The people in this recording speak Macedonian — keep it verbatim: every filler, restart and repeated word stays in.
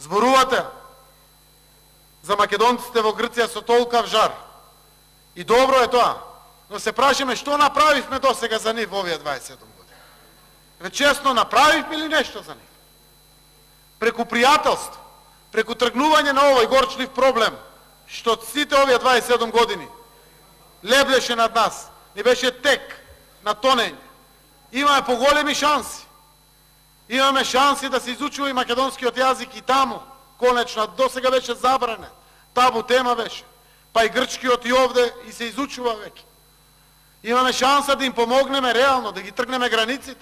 Зборувате за македонците во Грција со толкав жар. И добро е тоа. Но се прашаме што направивме досега за нив во овие дваесет и седум години. Ве честно направивме ли нешто за нив? Преку пријателство, преку тргнување на овој горчлив проблем, што сите овие дваесет и седум години леблеше над нас, ни беше тек на тонење. Имаме поголеми шанси. Имаме шанси да се изучува и македонскиот јазик и таму. Конечно, досега беше забранен. Табу тема беше. Па и грчкиот и овде и се изучува веќе. Имаме шанса да им помогнеме реално, да ги тргнеме границите.